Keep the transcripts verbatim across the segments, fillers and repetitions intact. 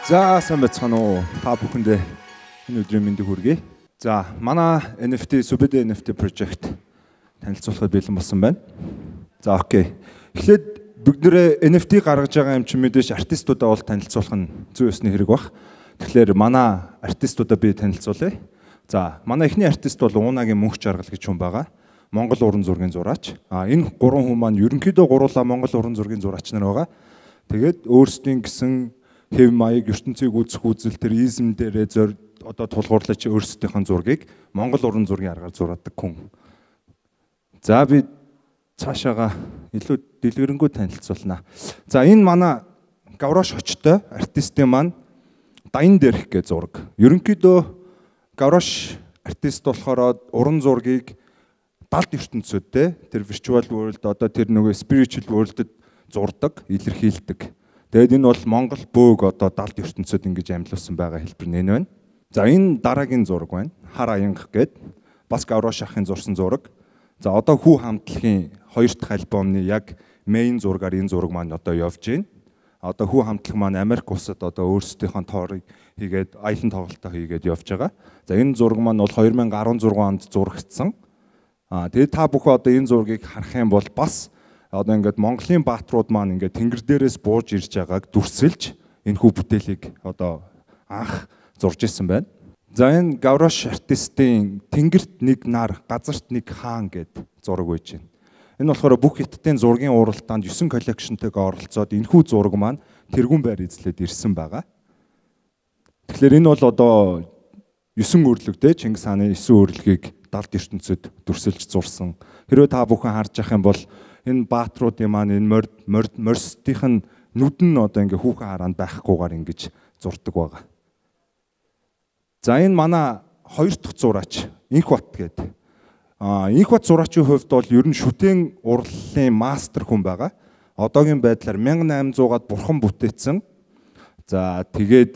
За сайн байцгаана уу? Та бүхэндээ энэ өдрийн мэндийг хүргэе. За манай эн эф ти Сүбэдэ эн эф ти project танилцуулахад бэлэн болсон байна. За окей. Эхлээд бүгдээрээ эн эф ти гаргаж байгаа юм чинь мэдээж артистуудаа бол танилцуулах нь зүй ёсны хэрэг баг. Тэгэхээр манай артистуудаа би танилцуулъя. За манай эхний артист бол Уунагийн Мөнх Жаргал гэж хүн байгаа. Монгол уран зургийн зураач. А энэ гурван хүн маань ерөнхийдөө гуруула Монгол уран зургийн зураач нар байгаа. Тэгээд өөрсдийн гэсэн хэв маяг ертөнцийг үзэх үзэл тэр изм дээрээ зөр одоо тулгуурлаж өөрсдийнхөө зургийг Монгол уран зургийн аргаар зураадаг хүн. За би цаашаага илүү дэлгэрэнгүй танилцуулнаа. За энэ манай Гаврош очтой артистын маань Даян дээрх гэж зураг. Ерөнхийдөө Гаврош артист болохоор уран зургийг далд ертөнцөдтэй тэр virtual world одоо тэр нөгөө spiritual world-д зурдаг, илэрхийлдэг. Тэгээд энэ бол Монгол бөөг одоо далд ертөнцөд ингэж амьлуулсан байгаа хэлбэр нэн байна. За энэ дараагийн зураг байна. Хар аянга гээд бас Гаврош ахын зурсан зураг. За одоо хүү хамтлагийн хоёр дахь альбомны яг мейн зургаар энэ зураг маань одоо явж байна. Одоо хүү хамтлаг маань Америк улсад одоо өөрсдийнхөө тоорыг хийгээд аялан тоглолтоо хийгээд явж байгаа. За энэ зураг маань бол хоёр мянга арван зургаан онд зурагдсан. Аа тэгээд та бүхэн одоо энэ зургийг харах юм бол бас одоо ингээд Монголын бааtruуд маань ингээд тэнгэр дээрээс бууж ирж байгааг дүрсэлж энэ хүү бүтээлийг одоо анх зурж исэн байна. За энэ Гаврош артистын тэнгэрт нэг нар, газарт нэг хаан гэд зураг байж байна. Энэ болохоор бүх хятадын зургийн уралдаанд девять коллекшнтэйгээ оролцоод энэ хүү зураг маань тэргүүн байр эзлээд ирсэн байгаа. Тэгэхээр энэ бол одоо девять өрлөгтэй Чингис хааны девять өрлөгийг далд ертөнцөд дүрсэлж зурсан. Хэрвээ та бүхэн харж явах юм бол энэ бааtruудын маань энэ морд морд морстийн нүд нь одоо ингээ хүүхэн хараанд байхгүйгээр ингэж зурдаг байгаа. За энэ манай хоёр дахь зураач Инхбат гэдэг. Аа Инхбат зураачийн хувьд бол ер нь шүтэн урлалын мастер хүн байгаа. Одоогийн байдлаар мянга найман зуугаад бурхан бүтээсэн. За тэгээд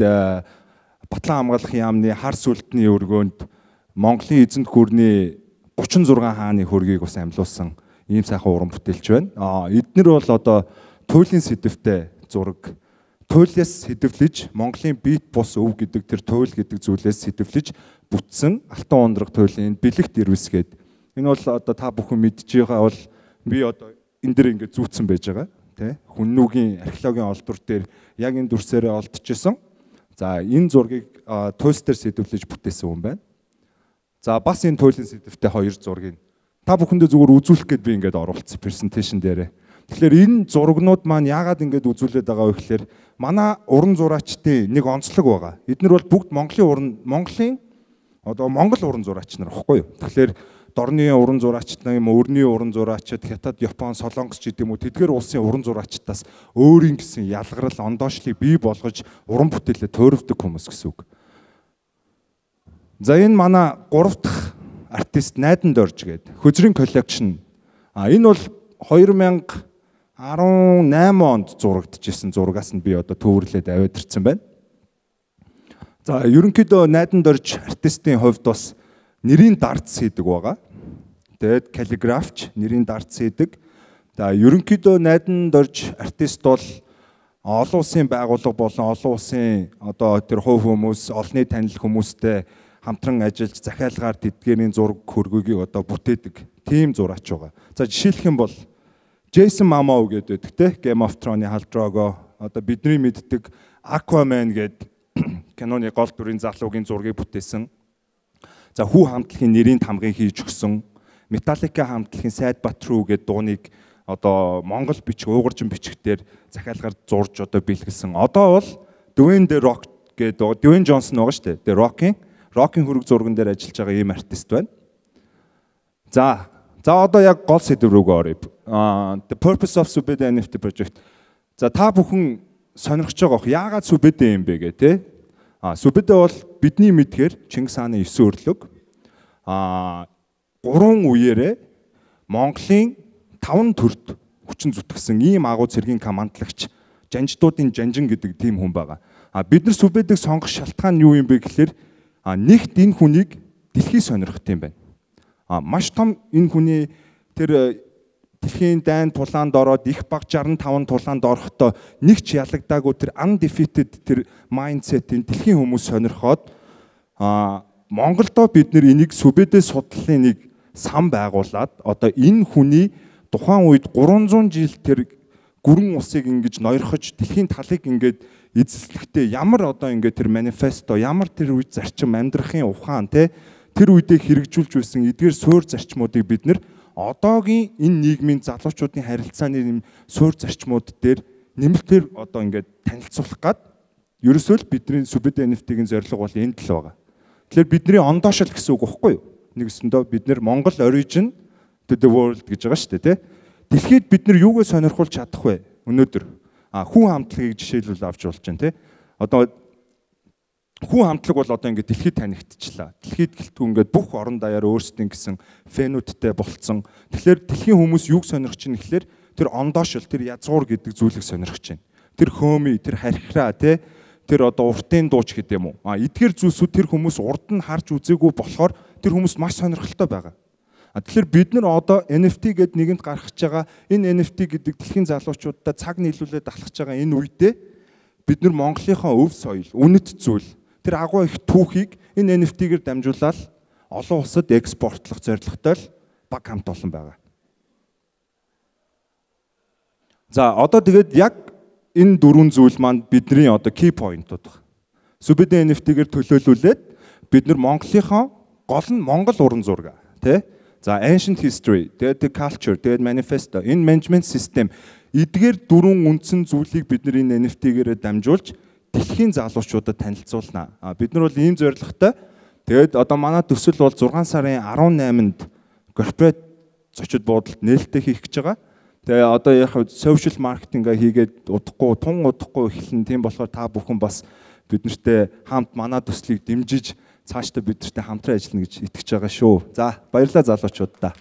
Батлан хамгаалахын яамны хар сүлтний өргөөнд Монголын эзэнт гүрний гучин зургаан хааны хөргийг бас амьлуулсан ийм сайхан уран бүтээлч байна. Аа эднэр бол одоо туйлын сэдвтэй зураг. Туйлаас сэдвлэж Монголын бит бус өв гэдэг тэр туйл гэдэг зүйлээс сэдвлэж бүтсэн алтан ундраг туйлын бэлэгт ирвэсгээд энэ бол одоо та бүхэн мэдж байгаа бол би одоо энэ дэр ингээд зүүцсэн байж байгаа тий Хүннүүгийн археологийн олдвор дээр яг энэ дүрсээрээ олдчихсон. За энэ зургийг туйлс дээр сэдвлэж бүтээсэн хүн байна. За бас энэ туйлын сэдвтэй хоёр зургийг та бүхэндээ зүгээр үзүүлэх гээд би ингээд оруулсан презентацийн дээрээ. Тэгэхээр энэ зурагнууд маань яагаад ингээд үзүүлээд байгаа вэ гэхээр манай уран зураачдын нэг онцлог байгаа. Эднэр бол бүгд Монголын уран Монголын одоо Монгол уран зураач нар баггүй юу. Тэгэхээр дорны уран зураачд юм өрний уран зураачд Хятад, Япон, Солонгос ч гэдэг юм уу тэдгээр улсын уран зураачдаас өөрийн гэсэн ялгарл ондоошлыг бий болгож уран бүтээлээ туурвдаг хүмүүс гэсэн үг. За энэ манай гурав дахь артист Найдан Дорж гэдэг Хөзрийн коллекшн. А энэ бол хоёр мянга арван найман онд зурагдчихсэн зургаас нь би одоо төвөрлөөд аваад ирсэн байна. За ерөнхийдөө Найдан Дорж артистын хувьд бас нэрийн дардс хийдэг байгаа. Тэгээд каллиграфч нэрийн дардс хийдэг. За ерөнхийдөө Найдан Дорж артист бол олон улсын байгууллага болон олон улсын одоо тэр хувь хүмүүс, олонний танил хүмүүстэй хамтран ажиллаж захиалгаар тэдгээрийн зураг хөргөгийг одоо бүтээдэг тийм зураач байгаа. За жишээлх юм бол Джейсон Момоа гэдэг те Game of Thrones-ы Хал одоо бидний мэддэг Aquaman гэдэг киноны гол дүрийн залуугийн зургийг бүтээсэн. За хүү хамтлагийн нэрийн тамгыг хийж өгсөн. Metallica хамтлагийн Sad But True гэдэг дууныг одоо Монгол бичиг уйгуржин бичгээр захиалгаар зурж одоо бэлгэлсэн. Одоо бол Dwayne The Rock гэдэг Dwayne Johnson байгаа шүү дээ. The Rock-ийн Рокийн хөрөг зурган дээр ажиллаж байгаа ийм артист байна. За, за одоо яг гол сэдв рүүгээ оръё. The purpose of Сүбэдэ эн эф ти project. За та бүхэн сонирхож байгаа бох яагаад Сүбэдэ юм бэ гэх тээ. А Сүбэдэ бол бидний мэдхээр Чингис хааны девять өрлөг. А гурван үеэрээ Монголын таван төрд хүчин зүтгэсэн ийм агуу цэргийн командлагч жанждуудын жанжин гэдэг тийм хүн байгаа. А бид нар Сүбэдэг сонгох шалтгаан юу юм бэ гэхээр А нэгт энэ хүнийг дэлхий сонирхт юм байна. А маш том энэ хүний тэр дэлхийн дайн тулаанд ороод их баг шестьдесят и пять тулаанд орохдоо нэг ч ялагдаагүй тэр undefeated тэр mindset-ийн дэлхийн хүмүүс сонирхоод а Монголдо бид нэр энийг сүбэдэ судлалын нэг сан байгуулад одоо энэ хүний тухайн үед гурван зуун жил тэр гүрэн усыг ингэж ноёрхож дэлхийн талыг ингэж эзэслэхдээ ямар одоо ингэ тэр манифесто ямар тэр үед зарчим амьдрахын ухаан те тэр үедээ хэрэгжүүлж байсан эдгээр суур зарчмуудыг бид нэр одоогийн энэ нийгмийн залуучуудын харилцааны юм суур зарчмууд дээр нэмэлтээр одоо ингэ танилцуулах гад ерөөсөө л бидний сүбэдэ эн эф ти-ийн зорилго бол энэ л байгаа. Тэгэхээр бидний ондоошил гэсэн үг байхгүй юу? Нэгсэндөө бид нэр Монгол origin to the world гэж байгаа шүү дээ, тий. Дэлхийд бид нар юугаа сонирхуулж чадах вэ? Өнөөдөр а хүн хамтлагийг жишээлбэл авч болж байна, тий. Одоо хүн хамтлаг бол одоо ингээд дэлхийд танигдчихлаа. Дэлхийд гэлтгүй ингээд бүх орон даяар өөрсдийн гэсэн феноттэй болцсон. Тэгэхээр дэлхийн хүмүүс юуг сонирхож байна гэхэлэр тэр ондоошил, тэр язгуур гэдэг зүйлийг сонирхож байна. Тэр хөөми, тэр хархираа, тий. Тэр одоо уртын дууч гэдэг юм уу? А эдгээр зүйлсүүд тэр хүмүүс урд нь харж үзээгүй болохоор тэр хүмүүс маш сонирхолтой байгаа. А тэгэхээр бид нар одоо эн эф ти гэдэг нэгэнд гаргаж байгаа энэ эн эф ти гэдэг дэлхийн залуучуудад цаг нийлүүлээд алхаж байгаа энэ үедээ бид нар Монголынхаа өв соёл, үнэт зүйл тэр агуу их түүхийг энэ эн эф ти-гэр дамжуулаад олон улсад экспортлох зорилготой л баг хамт олон байгаа. За одоо тэгээд яг энэ дөрвөн зүйл маань бидний одоо key point-ууд байна. Сүбэдэ эн эф ти-гэр төлөөлүүлээд бид нар Монголынхаа гол нь Монгол уран зураг тий. За ancient history, тэгээд culture, тэгээд manifesto, энэ management system эдгээр дөрвөн үндсэн зүйлийг бид нар энэ эн эф ти-гэрээ дамжуулж дэлхийн залуучуудад танилцуулнаа. А бид нар бол ийм зорилготой. Тэгээд одоо манай төсөл бол зургаан сарын арван найманд corporate зочид буудалд нээлттэй хийх гэж байгаа. Тэгээ одоо яг social marketing-а хийгээд удахгүй, тун удахгүй эхэлнэ. Тийм болохоор та бүхэн бас бид нартэй хамт манай төслийг дэмжиж цаашдаа бид нартэй хамтран ажиллана гэж итгэж байгаа шүү. За баярлалаа залуучуудаа.